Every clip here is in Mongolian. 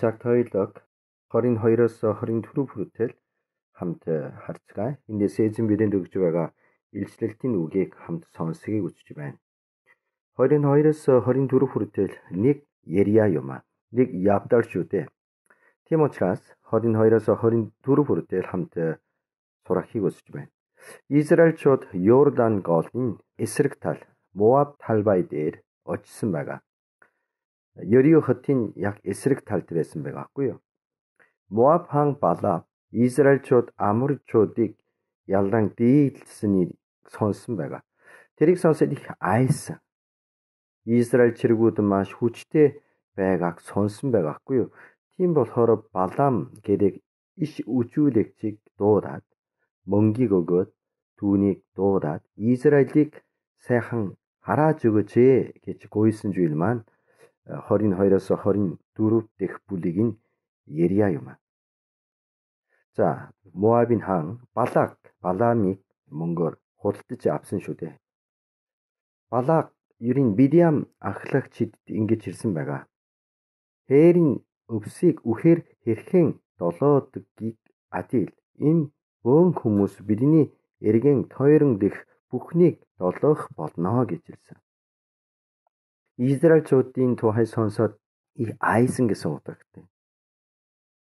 цаг тойлог 22-оос 24 хүртэл хамт харцгаая. Эндээс эзэн бидэнд өгж байгаа илчлэлтийн үгийг хамт сонсхийг үзэж байна. 22-оос 24 хүртэл нэг Ерия юм аа. Нэг явдал шүү дээ. Тийм учраас 22-оос 24 хүртэл хамт сурахыг үзэж байна. Израильчууд Йордан голын эсрэг тал Моаб талбай дээр очсон байгаа. Ерио хотын яг эсрэг талд байсан байгаа хгүй юу. Моаб хаан Балак Израильчууд Аморчуудыг ялан дийлсэнийг сонсон байгаа. Тэрийг сонсоод их айсан. Израиль чиргүүд маш хүчтэй байгааг сонсон байгаа хгүй юу. Тийм болохоор Балам гэдэг иш үжүүлэгчийг дуудаад мөнгийг өгөөд түүнийг дуудаад Израилийг сайхан харааж өгөөч гэж гуйсан зүйл маань 22-оос 24 дэх бүлэг нь Ерия юм. За, Моабын хаан Балак Баламыг мөнгөөр худалдаж авсан шүү дээ. Балак ерийн Бидиам ахлагчид ингэж ирсэн байгаа. Хээрийн өвсийг үхээр хэрхэн долоодгийг адил энэ бөөн хүмүүс бидний эргэн тойрон дэх бүхнийг долоох болно гэж ирсэн. Израильчуудын тухай сонсоод их айсан гэсэн утгатай.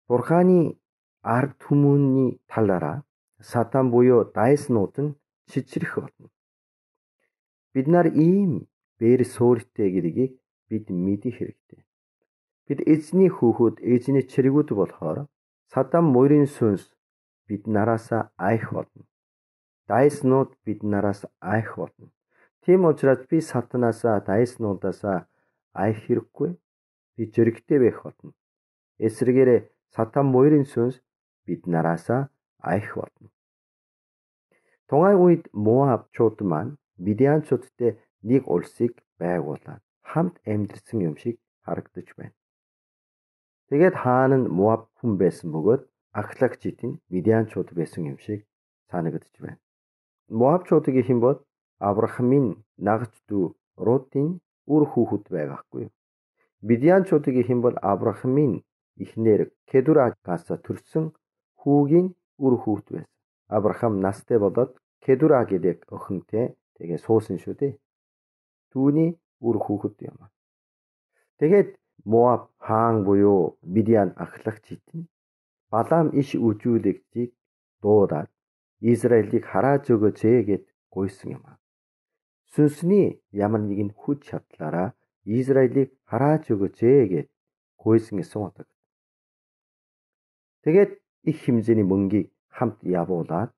Бурханы ард түмний талаараа Сатан буюу дайснууд нь чичрэх болно. Бид нар ийм бээр суурьтай гэдгийг бид мэдэх хэрэгтэй. Бид эзний хүүхэд, эзний чиргүүд болохоор Сатан мөрийн сүнс бид нараас айх болно. Дайснууд бид нараас айх болно. Тийм учраас би Сатанаас дайснуудаас айх хэрэггүй. Би зөрөгтэй байх болно. Эсвэргээрээ Сатан мөрийн сүнс бид нараас айх болно. Тухайн үед Моабчууд маань Бидианчуудтай нэг улсыг байгуулаад хамт амьдэрсэн юм шиг харагдаж байна. Тэгээд хаан нь Моаб хүн байсан бөгөөд ахлагчид нь Бидианчууд байсан юм шиг санагдаж байна. Моабчуудыг хэмбод Авраамын нагч дүү Рутын үр хүүхэд байгаахгүй. Бидианчуудыг хэмбод Авраамын эхнэр Кедурагаас төрсөн хүүгийн үр хүүхэд байсан. Авраам настай болоод Кедура гэдэг охинтой тэгээ суусан шүү дээ. Түүний үр хүүхэд юм. Тэгээд Моаб хаан буюу Бидиан ахлагчид нь Балам иш үжүүлэгчийг дуудаад Израилийг харааж өгөөч гэд гуйсан юм. Сүнсний ямар нэгэн хүч чадлаараа Израилийг харааж өгөөч гэд гуйсан гэсэн утга. Тэгээд их хэмжээний мөнгийг хамт явуулаад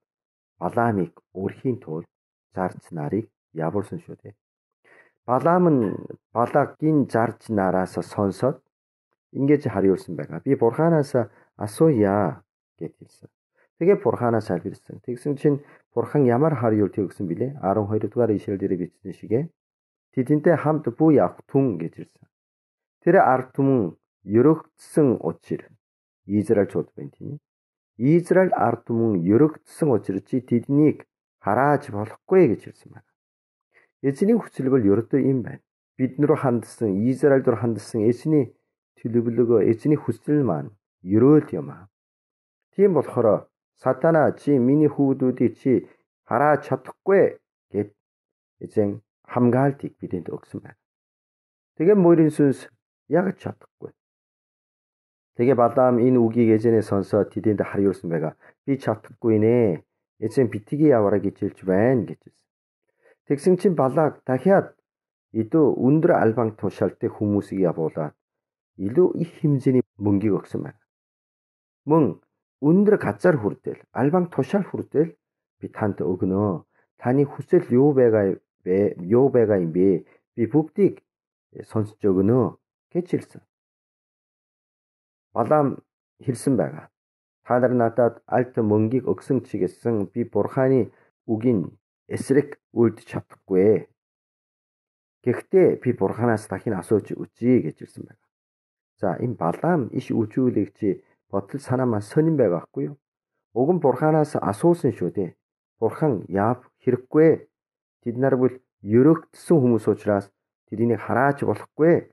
Баламыг өрхийн тулд зарж нарыг явуулсан шүү дээ. Балам нь Балакийн зарж нараас сонсоод ингэж хариулсан байгаа. Би Бурханаас асууя гэж хэлсэн. Тэгээ Бурханаас хариулсан. Тэгсэн чинь Бурхан ямар хариулт өгсөн бilé? 12 дугаар ишлэл дээр бичсэн шигэ. Тэдэнтэй хамт буй авах түн гэж ирсэн. Тэр ард түмэн ерөгдсөн учир Израильчууд байна тийм. Израиль ард түмэн ерөгдсөн учир чи тэднийг харааж болохгүй гэж хэлсэн байна. Эзний хүсэл бол ердөө юм байна. Бид нар хандсан, Израиль руу хандсан эзний төлөвлөгөө, эзний хүсэл маань ерөөл юм аа. Тийм болохоор Сатана чи миний хүүхдүүдийг чи харааж чадахгүй гэд эзэн хамгаалтыг бидэнд өгсөн байна. Тэгээ мөрийн сүнс яг чадахгүй. Тэгээ Балам энэ үгийг эзэнээс сонсоод тэдэнд хариулсан байгаа. Би чадахгүй нэ. Эзэн битгий яваарай гэж хэлж байна гэж. Тэгсэн чинь Балак дахиад илүү өндөр албан тушаалтай хүмүүсийг явуулаад илүү их хэмжээний мөнгийг өгсөн байна. Мөн өндөр газар хүртэл, албан тушаал хүртэл би танд өгнө. Таны хүсэл юу байгаа юм бэ? Би бүгдийг сонсож өгнө гэж хэлсэн. Балам хэлсэн байгаа. Та нар надад алт мөнгийг өгсөн ч гэсэн би Бурханы үгийн эсрэг үлдэж чадахгүй. Гэхдээ би Бурханаас дахин асууж үзье гэж хэлсэн байна. За энэ Балам иш үжүүлэгч бодол санаа маань сонирн байгаа байхгүй юу? Уг нь Бурханаас асуусан шүү дээ. Бурхан яав хэрэггүй. Тэд нар бол ерөөгдсөн хүмүүс учраас тэднийг харааж болохгүй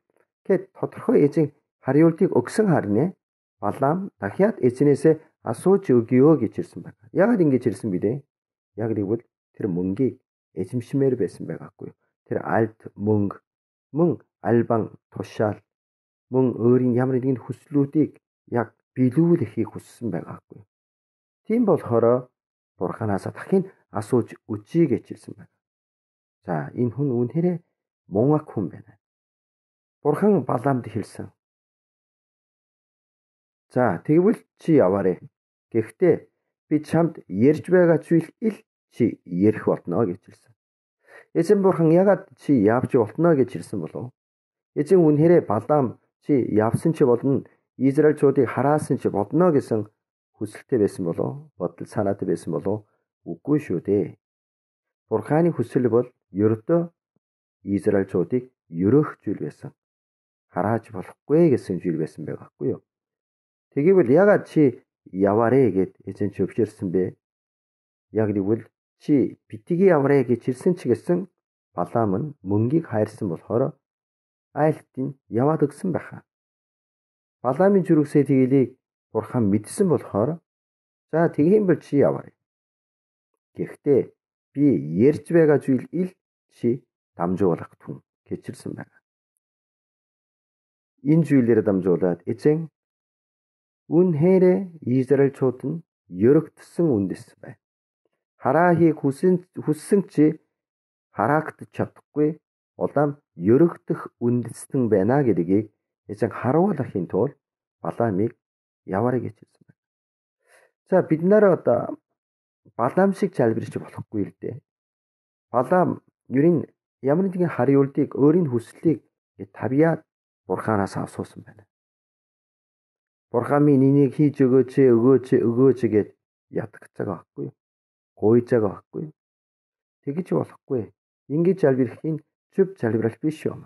гэд тодорхой эзэн хариултыг өгсөн харнэ. Балаам дахиад эзнээсээ асууж өгье гэж ирсэн байна. Яагаад ингэж ирсэн бэ? Яг гэвэл тэр мөнгийг эзэмшмээр байсан байгаахгүй. Тэр альт мөнгө, мөн альбан тушаал, мөн өөрийн ямар нэгэн хүслүүдийг яг биелүүлэхийг хүссэн байгаахгүй. Тийм болохоор Бурханаас дахин асууж үзье гэж хэлсэн байна. За, энэ хүн үнэхээр мунхаг хүн байна. Бурхан Балаамд хэлсэн. За, тэгвэл чи яваарэ. Гэхдээ би чамд ярьж байгаа зүйл ил чи ярих болно гэж хэлсэн. Эзэн Бурхан ягаад чи явж болно гэж хэлсэн болов? Эзэн үнэхээр Балаам чи явсан чи болно, Израильчуудыг хараасан чи болно гэсэн хүсэлтэй байсан болов? Бодол санаатай байсан болов? Үгүй шүү дээ. Бурханы хүсэл бол ердөө Израильчуудыг ерөөх зүйл байсан. Харааж болохгүй гэсэн зүйл байсан байгаахгүй юу? Тэгвэл ягаад чи яваарэ гэд эзэн чи өвчөрсөн бэ? Яг гэвэл чи битгий яваарэ гэж хэлсэн ч гэсэн Балаам нь мөнгийг хайрсан болохоор айлтын яваад өгсөн байхаа. Балаамын зүрхсээ тгийлийг Бурхан мэдсэн болохоор за тэгхийн бол чи яваарэ. Гэхдээ би ярьж байгаа зүйл ил чи дамжуулах түн гэчилсэн байна. Энэ зүйлээр дамжуулаад эзэн үнэхээр Израильчууд нь ерөгдсөн үндэс байна. Хараахыг хүссэн чи хараагдаж чадахгүй улаам ерөгдөх үндэстэн байна гэдгийг эзэн харуулахын тулд Балаамыг яваарэ гэж хэлсэн байна. За, бид нар одоо Балаам шиг залбирч болохгүй л дээ. Балаам ерийн ямар нэгэн хариултыг өөрийн хүслийг тавьяад Бурханаас асуусан байна. Бурхан минь энийг хийж өгөөч гэд ятгах байгаа байхгүй юу? Гуйж байгаа байхгүй юу? Тэгэж болохгүй. Ингэж залбирхийн зөв залбирал биш юм.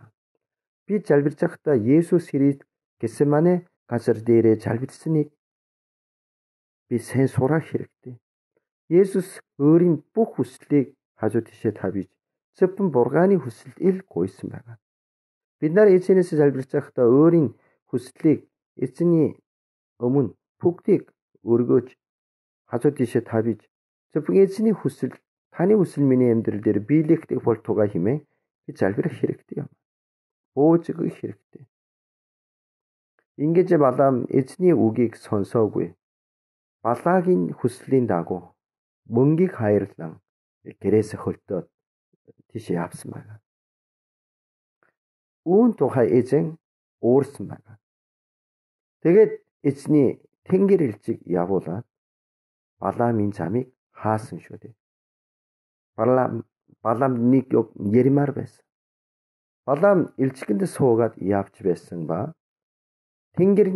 Би залбирч байхдаа Есүс Христ Гесемане газар дээрээ залбирсныг би сайн сурах хэрэгтэй. Есүс өөрийн бүх хүслийг хажуу тишээ тавьж зөвхөн Бурханы хүсэлд ил гуйсан байна. Бид нар эзэнээс залбирч байхдаа өөрийн хүслийг эзний өмнө бүгдийг өргөөж хажуу тишээ тавьж зөвхөн эзний хүсэл, таны хүсэл миний амьдрал дээр биелэгдэх болтугай хэмээн би залбирах хэрэгтэй юм. Бууж өгөх хэрэгтэй. Ингэж Балаам эзний үгийг сонсоогүй. Балаагийн хүслийн дагуу мөнгийг хайрлан гэрээсээ хөлтөөд тийш явсан байна. Үүн тухай эзэн уурсан байна. Тэгээд эзний тэнгэр элчиг явуулаад Балаамын замыг хаасан шүү дээ. Балаам нэг ярмаар байсан. Балаам элчигэнд суугаад явж байсан ба тэнгэр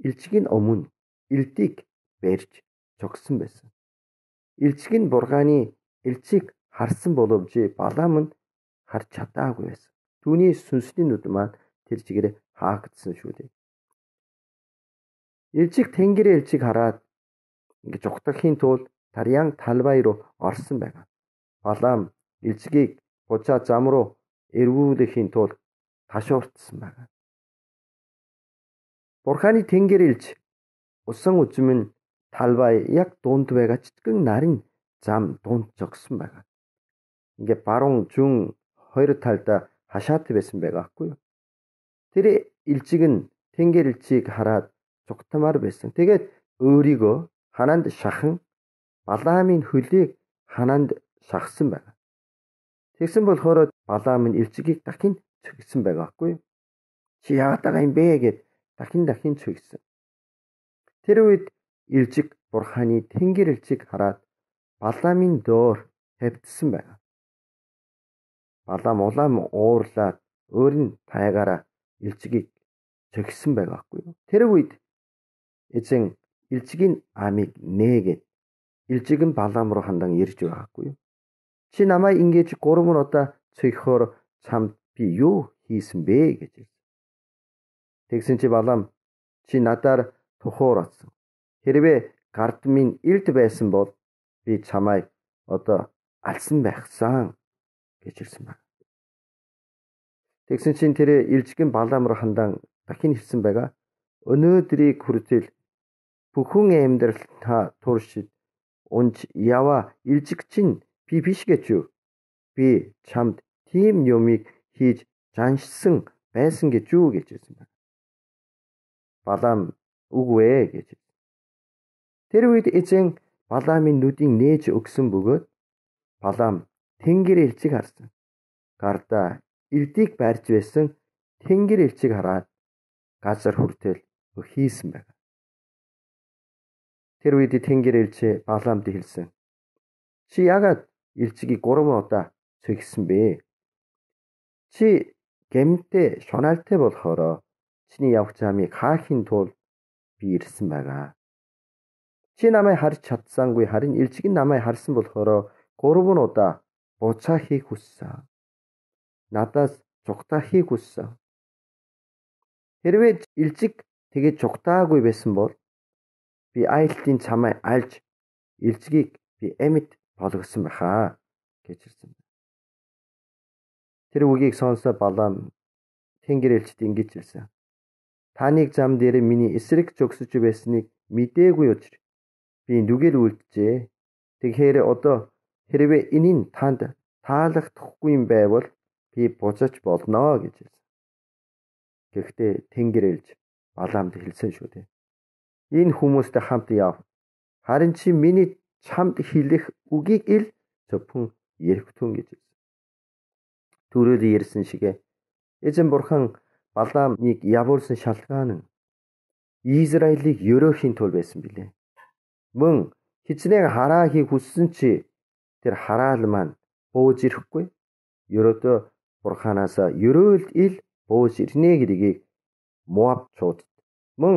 элчигийн өмнө элдийг барьж зогссон байсан. Элчиг нь Бурханы элчийг харсан боловч Балаам нь харж чадаагүй байсан. Түүний сүнсний нүд маань тэр чигээр хаагдсан шүү дээ. Элчиг тэнгэр элчиг хараад ингэж ухтахын тулд Тарьяан талбай руу орсон байна. Балаам элчигийг бужаа зам руу эргүүлэхийн тулд ташуурдсан байна. Бурханы тэнгэр элч усан үзмэн талбай яг дунд байгаа чичгэн нарийн зам дунд зогссон байна. Ингээ баруун зүүн хоёр талдаа хашаатай байсан байгаа байхгүй юу? Тэр элчиг нь тэнгэр элчийг хараад цугтамаар байсан. Тэгээд өөрийгөө ханаанд шахан Балаамын хөлийг ханаанд шахсан байна. Тэгсэн болохоор Балаам нь элчигийг дахин цогсон байгаа байхгүй юу? Чи яагаад байгаа юм бэ гэд дахин цогсон. Тэр үед элчиг Бурханы тэнгэр элчиг хараад Балаамын доор тавьдсан байна. Балаам улаан уурлаад өөрийн тайгаараа элчигийг цогсон байгаа байхгүй юу? Тэр үед эзэн элчигийн амийг нээгээд элчиг нь Балаам руу хандан ирж байгаагүй юу? Чи намайг ингэж 3 удаа цогхоор чамд би юу хийсэн бэ гэж хэлсэн. Тэгсэн чи Балаам чи надаар тухуурсан. Хэрвээ гард минь илд байсан бол би чамайг одоо алсан байхсан гэж хэлсэн байна. Тэгсэн чинь тэр элчиг нь Балаам руу хандан дахин хэлсэн байгаа. Өнөөдрийг хүртэл бүхэн амьдрал та туршид унж яваа илжиг чинь би биш гэж юу? Би чамд тийм юмыг хийж заншсан байсан гэж юу гэж хэлсэн байна. Балаам үгүй гэж. Тэр үед эзэн Балаамын нүдийг нээж өгсөн бөгөөд Балаам тэнгэр элчиг харсан. Гардаа элдийг барьж байсан тэнгэр элчиг хараад газар хүртэл хийсэн байна. Тэр үед тэнгэр элч Балаамд хэлсэн. Чи яагаад элчигийг 3 удаа цэгсэн бэ? Чи гэмтэй шунаалтай болохоор чиний явах замыг хаахын тулд би ирсэн байгаа. Чи намайг харж чадсангүй харин элчиг нь намайг харсан болохоор 3 удаа буцаа хийх хүссэн. Надаас цугтаа хийх хүссэн. Хэрвээ элчиг тэгээд цугтаагүй байсан бол би айлтын чамайг альж элчигийг би амьд болгосон байхаа гэж хэлсэн. Тэр үгийг сонсоод Балаам тэнгэр элчд ингэж хэлсэн. Таныг зам дээр миний эсрэг зогсож байсныг мэдээгүй учраас би нүгэл үлджээ. Тэгэхээр одоо хэрвээ энэ нь танд таалагдахгүй юм байвал би буцаж болно гэж хэлсэн. Гэхдээ тэнгэр элч Балаамд хэлсэн шүү дээ. Энэ хүмүүстэй хамт яв. Харин чи миний чамд хэлэх үгийг ил зөвхөн эргэтүүн гэж хэлсэн. Түрүүд ярьсан шигэ эзэн бурхан Балаамыг явуулсан шалтгаан нь Израилийг ерөөхийн тул байсан билээ. Мөн хичнээн хараа хийх хүссэн чи тэр хараал маань бууж ирэхгүй. Ерөөдөө бурханаас ерөөл ил бууж ирнэ гэдгийг Моабчууд мөн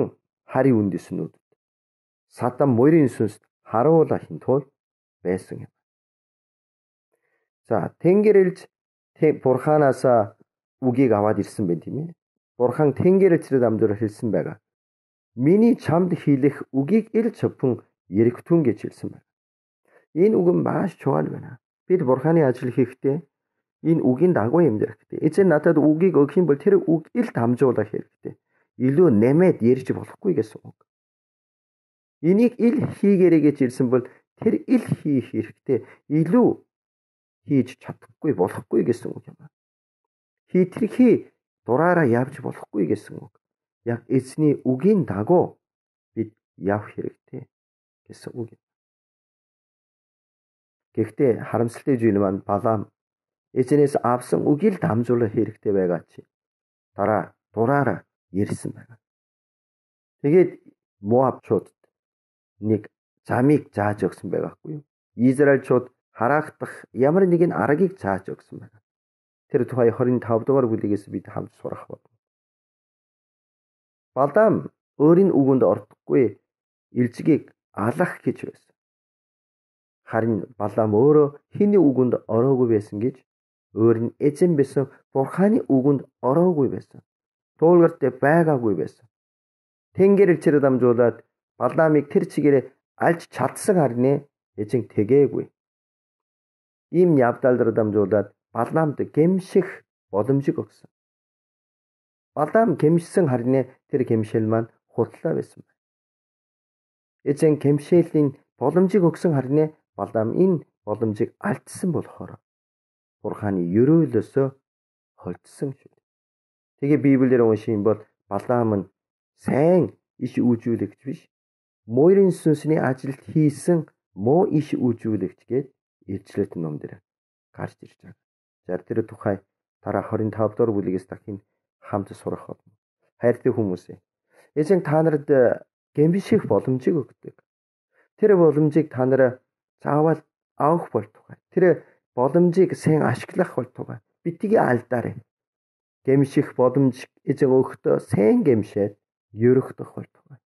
хари үндэснүүд Садам морийн сүнс харуулахын тулд байсан юм. За тэнгэр элч бурханаас үгийг аваад ирсэн байх тийм ээ. Бурхан тэнгэр элчрээ дамжуулаад хэлсэн байгаа. Миний чамд хэлэх үгийг ил зөвхөн эргэтүүн гэж хэлсэн байна. Энэ үг нь маш чухал байна. Бид бурханы ажил хийхдээ энэ үгийн дагуу амьдрах хэрэгтэй. Эзэн надад үгийг өгөх юм бол тэр үг ил дамжуулах хэрэгтэй. Илүү нэмээд ярьж болохгүй гэсэн үг. Энийг ил хийгээрэй гэж хэлсэн бол тэр ил хийх хэрэгтэй. Илүү хийж чадахгүй болохгүй гэсэн үг юм. Хитрхи дураараа явж болохгүй гэсэн үг. Яг эзний үгийн дагуу бид явах хэрэгтэй гэсэн үг юм. Гэхдээ харамсалтай зүйл маань Балаам эзнээс авсан үгийг дамжуулах хэрэгтэй байгаа чи дараа дураараа ярьсан байна. Тэгээд Моабчууд нэг замыг зааж өгсөн байгаахгүй юу? Израильчууд хараагдах ямар нэгэн аргыг зааж өгсөн байна. Тэр тухай 25 дугаар бүлгээс бид хамт сурах болно. Балаам өөрийн үгэнд ордохгүй элчгийг алах гэж байсан. Харин Балаам өөрөө хэний үгэнд ороогүй байсан гэж өөр нь эзэн байсан бурханы үгэнд ороогүй байсан. Туулгарт байгаагүй байсан. Тэнгэр элчээр дамжуулаад Балаамыг тэр чигээрээ альж чадсан харин эзэн тэгээгүй. Ийм явдалд дамжуулаад Балаамд гэмших боломжийг өгсөн. Балаам гэмшсэн харин тэр гэмшил маань худлаа байсан байна. Эзэн гэмшээлийн боломжийг өгсөн харин Балаам энэ боломжийг алдсан болохоор бурханы ерөөлөөсөө холдсон шүү. Тэгээ Библиэр унших юм бол Балаам нь сайн иш үүжүүлэгч биш. Морийн сүнсний ажилд хийсэн муу иш үүжүүлэгч гээд илчлэлт ном дээр гарч ирж байгаа. За тэр тухай дараа 25 дугаар бүлгээс дахин хамт сурах болно. Хайртай хүмүүс. Эзэн та нарт гэмших боломжийг өгдөг. Тэр боломжийг та нар заавал авах болтугай. Тэр боломжийг сайн ашиглах болтугай. Битгий алдаарай. Гэмших боломж эзэн өгөхдөө сайн гэмшээд ерөхдөх болтугай.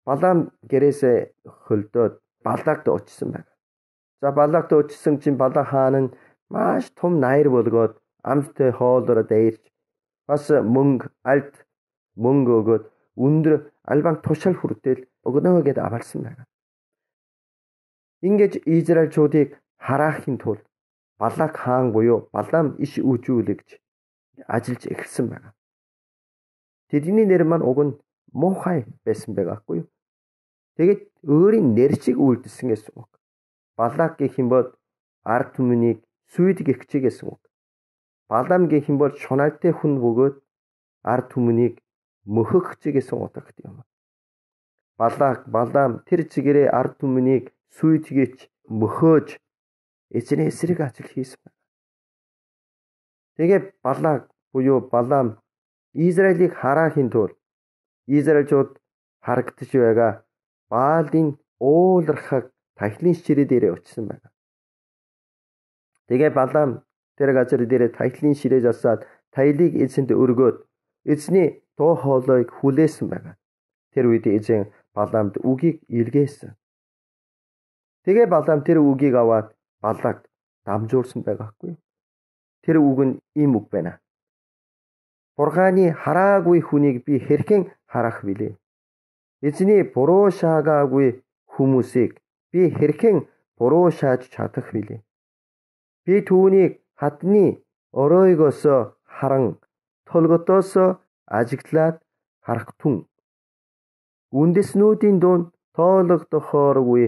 Балаам гэрээсээ хөлдөөд Балаагт очсон байна. За Балаагт очсон чинь Балаа хаан нь маш том наяр болгоод амттай хоолороо дайрч бас мөнгө өгөөд өндөр албан тушаал хүртэл өгнө гэдээ авалсан байна. Ингэж Израильчуудыг хараахын тулд Балаак хаан буюу Балаам иш үүжүүлэгч ажиллаж эхэлсэн байна. тэдний нэр маань уг нь муухай байсан байгаахгүй юу? Тэгээд өөрийн нэрчиг үлдсэн гэсэн үг. Балак гэх юм бол ард түмнийг сүйд гихчээ гэсэн үг. Балам гэх юм бол шуналтай хүн бөгөөд ард түмнийг мөхөгч гэсэн утгатай юм. Балак, Балам тэр чигээрээ ард түмнийг сүйдгийч мөхөөж эзний эсрэг ажил хийсэн байна. Тэгээ Балак буюу Балам Израилийг хараахын тулд Израильчууд харагдаж байгаа Баалын уулархаг тахилын ширээ дээрээ очсон байна. Тэгээ Балам тэр газар дээрээ тахилын ширээ засаад таилыг эзэнд өргөөд эзний дуу хоолойг хүлээсэн байна. Тэр үед эзэн Баламд үгийг илгээсэн. Тэгээ Балам тэр үгийг аваад Балак дамжуулсан байгаахгүй. Тэр үг нь ийм үг байна. Бурханы хараагүй хүнийг би хэрхэн харах вүлээ? Эзний буруу шаагаагүй хүмүүсийг би хэрхэн буруу шааж чадах вүлээ? Би түүнийг хадны оройгоос харан толготоос ажиглаад харах түн. Үндэснүүдийн дунд тоологдохооргүй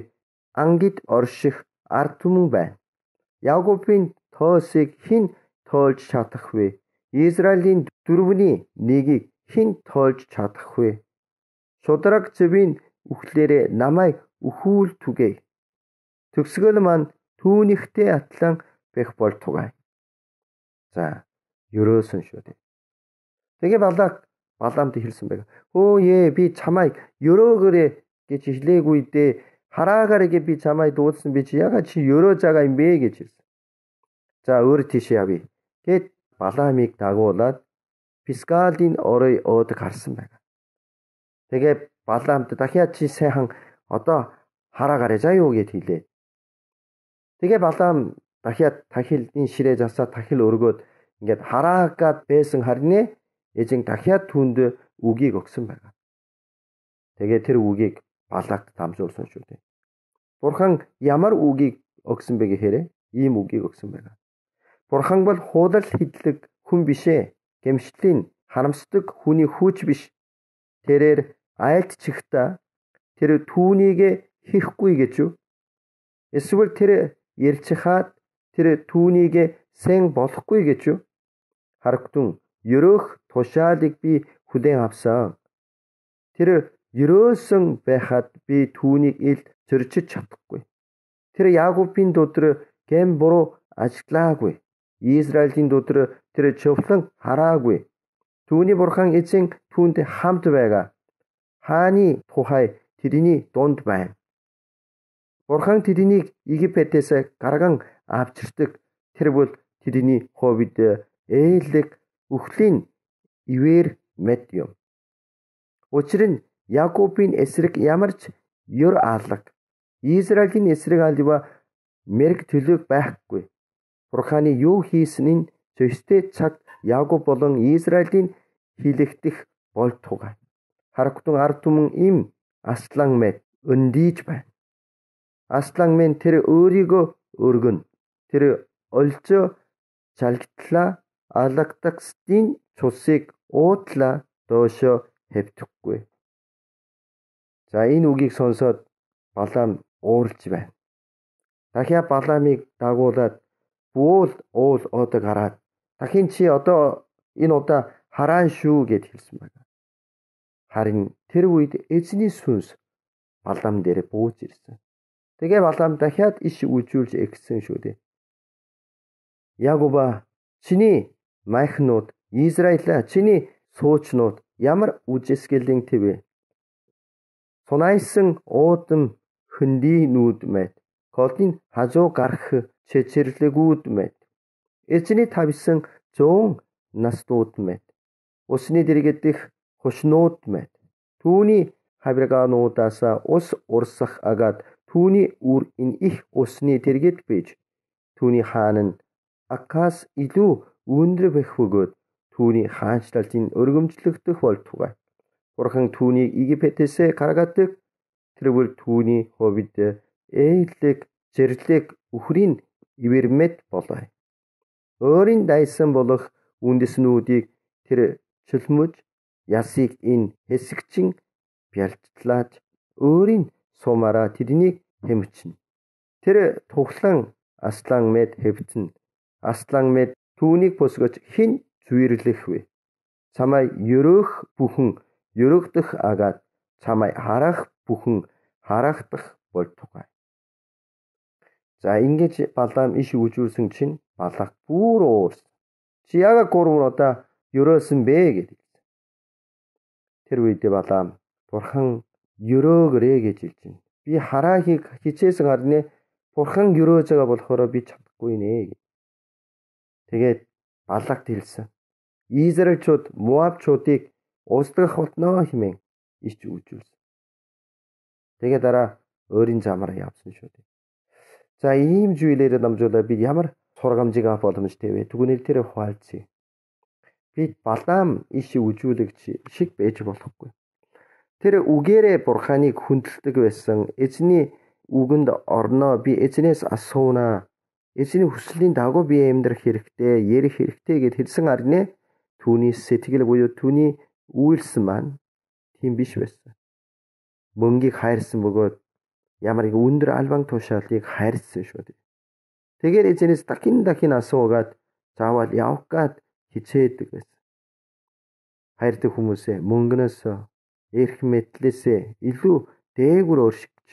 ангид орших ард түмэн байна. Яаковын тоосыг хэн тоолж чадах вэ? Израилийн дөрвний нэгийг хэн тоолж чадах вэ? Шудраг зөвийн үхлээрээ намайг өхүүл түгээе. Төгсгөл маань түүнийхтэй атлан байх болтугай. За, ерөөсөн шүү дээ. Тэгээ Баламд хэлсэн байга. Өөе би чамайг ерөөгөрөө гэж хэлээгүй дээ. Хараагаараа би чамайг дуулсан би чи ягаад чи ерөө байгаа юм бэ гэж хэлсэн. За өөр тийш явъя. Гэт Баламыг дагуулад Пискалийн орой оод гарсан байна. Тэгээ Баламд дахиад чи сайхан одоо хараагаараа заа юу гэд хэлээ. Тэгээ Балам дахиад тахилын ширээ засаад тахил өргөөд ингээд хараагаад байсан харин эзэн дахиад түүнд үгийг өгсөн байна. Тэгээ тэр үгийг Балак дамжуулсан шүү дээ. Бурхан ямар үгийг өгсөн бэ гэхээр ийм үгийг өгсөн байна. Бурхан бол худал хидлэг хүн бишээ. Гэмшлийн харамсдаг хүний хүүч биш. Тэрээр айлтчихта тэр түүнийг хийхгүй гэж юу? Эсвэл тэр ярьчихад тэр түүнийг сэн болохгүй гэж юу? Харагтун ерөөх тушаалыг би хүлээн авсан. Тэр ерөөсөн байхад би түүнийг ил зөрчиж чадахгүй. Тэр Яаковын дотор гэм буруу ажиглаагүй. Израилийн дотор тэр чөвлөн хараагүй. Түүний бурхан эзэн түүнд хамт байгаа. Хааны тухай тэрний дунд байна. Бурхан тэднийг Египтээс гарган авчирдаг. Тэр бол тэдний хувьд ээлэг үхлийн ивэр мэд юм. Учир нь Яаковын эсрэг ямар ч ёр алга. Израилийн эсрэг алива мэрэг төлөв байхгүй. Бурханы юу хийсэн нь зөвхөстэй цагт Яаков болон Израилийн хилэгдэх болтугай. Харагтун ард түмэн им аслан мэд өндийж байна. Аслан мен тэр өөрийгөө өргөн. Тэр олзоо жалгтлаа алагдагсдын цусыг уутлаа доошо хэвдэхгүй. За энэ үгийг сонсоод Балам уурж байна. Дахиад Баламыг дагуулад уул оод гараад дахин чи одоо энэ удаа хараан шүү гэд хэлсэн байна. Харин тэр үед эзний сүнс Балам дээр бууж ирсэн. Тэгээ Балам дахиад иш үзүүлж эгсэн шүү дээ. Яаковаа чиний майхнууд Израиля чиний суучнууд ямар үжисгэлэн тэвэ. Сунайсан уудам хөндөй нүүд мэд. Колдын хажуу гарах чэчэрлэгүүд мэд. Эзний тавьсан 100 настууд мэд. Усны дэргэдэх хушнууд мэд. Түүний хавиргаануудаас ус урсах агад түүний үр энэ их усны дэргэд бийж. Түүний хаан нь Акаас илүү өндөр байх бөгөөд түүний хаанчлалын өргөмжлөгдөх болтугай. Бурхан түүнийг Египтээс гаргадаг. Тэр бол түүний хувьд ээлэг зэрлэг үхрийн ивэрмэд болоо. Өөрийн дайсан болох үндэснүүдийг тэр чөлмөж ясыг энэ хэсэгчин бялжлааж өөрийн сумаараа тэднийг хэмчинэ. Тэр тухлан аслан мэд хэвтэн аслан мэд түүнийг босгож хэн зүйрлэх вэ? Чамай ерөөх бүхэн ерөөгдөх агаад чамай харах бүхэн харагдах болтугай. За ингэж Балаам иш үжүүлсэн чинь Балак бүр уурсан. Чи яагаад 3 удаа ерөөсөн бэ гэдэг. Тэр үед Балаам Бурхан ерөөгрээ гэж хэлж байна. Би хараахыг хичээсэн харна. Бурхан ерөөж байгаа болохоор би чадахгүй нэ. Тэгээд Балакт хэлсэн. Израильчууд Моабчуудыг устгах болно хэмээн иш үжүүлсэн. Тэгээд дараа өөрийн замаараа явсан шүү дээ. За ийм зүйлээр дамжуулаад бид ямар сургамжийг авах боломжтой вэ? Түгнэл тэр хуалцъя. Бид Балаам иш үжүүлэгч шиг байж болохгүй. Тэр үгээрээ Бурханыг хүндэлдэг байсан. Эзний үгэнд орноо би эзнээс асуунаа. Эзний хүслийн дагуу би амьдрах хэрэгтэй, ярих хэрэгтэй гэд хэлсэн харнэ. Түүний сэтгэл буюу түүний үйлс маань тийм биш байсан. Мөнгийг хайрсан бөгөөд ямар их өндөр албан тушаалыг хайрсан шүү дээ. Тэгэхээр эзнээс дахин асуугаад заавал явах гад хичээдэг байсан. Хайртай хүмүүсээ мөнгнөөс эрх мэдлээсээ илүү дээгүүр өршигч.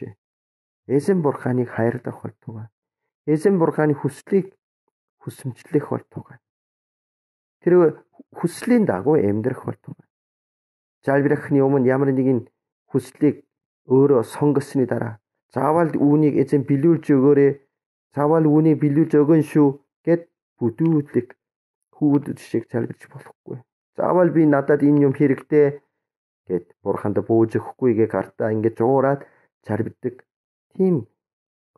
Эзэн Бурханыг хайрлах болтугай. Эзэн Бурханы хүслийг хүсэмжлэх болтугай. Тэр хүслийн дагуу амьдрах болтугай. Залбирахны өмнө ямар нэгэн хүслийг өөрөө сонгосны дараа заавал үүнийг эзэн билүүлж өгөөрэй. Заавал үүнийг билүүлж өгөн шүү гэд бүдүүлэг хүүдэж шиг залбирч болохгүй. Заавал би надад энэ юм хэрэгтэй гэд Бурханд бууж өгөхгүйгээ гартаа ингэж уураад залбирдаг тийм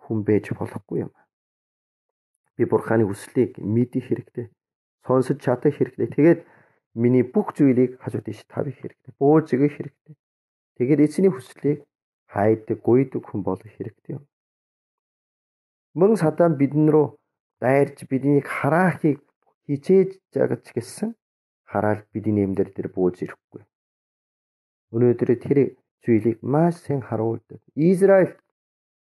хүн байж болохгүй юм. Би Бурханы хүслийг мэдэх хэрэгтэй. Сонсож чадах хэрэгтэй. Тэгээд миний бүх зүйлийг хажууд иш тавих хэрэгтэй. Бууж өгөх хэрэгтэй. Тэгээд эзний хүслийг хайдаг, гуйдаг хүн болох хэрэгтэй юм. Мөн сатан бидэн рүү дайрч биднийг хараахыг хичээж байгаа ч гэсэн хараал бидний амьдрал дээр бууж ирэхгүй. Өнөөдөр тэр зүйлийг маш сайн харуулдаг. Израиль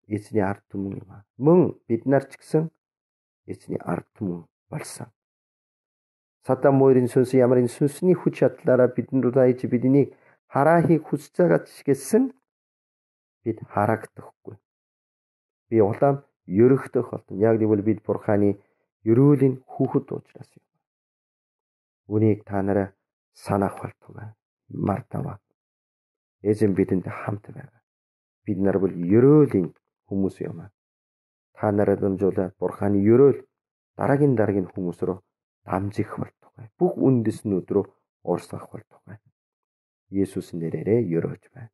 эзний ард түмэн юм. Мөн бид нар ч гэсэн эзний ард түмэн болсон. Сатан мөрийн сүнс ямар нэг сүнсний хүч чадлаараа бидэнд дайж биднийг хараахыг хүсэж байгаа ч гэсэн бид харагдахгүй. Би улаан ерөхдөх болно. Яг гэвэл бид Бурханы ерөөлийн хүүхэд учраас юм. Үнийг та нараа санах болтугай. Мартава. Эзэн бидэнд хамт байгаа. Бид нар бол ерөөлийн хүмүүс юм. Та нараа дамжуулаад Бурханы ерөөл дараагийн хүмүүс рүү дамжих болтугай. Бүх үндэснүүд рүү урсгах болтугай. Есүс нэрээр ерөөж байна.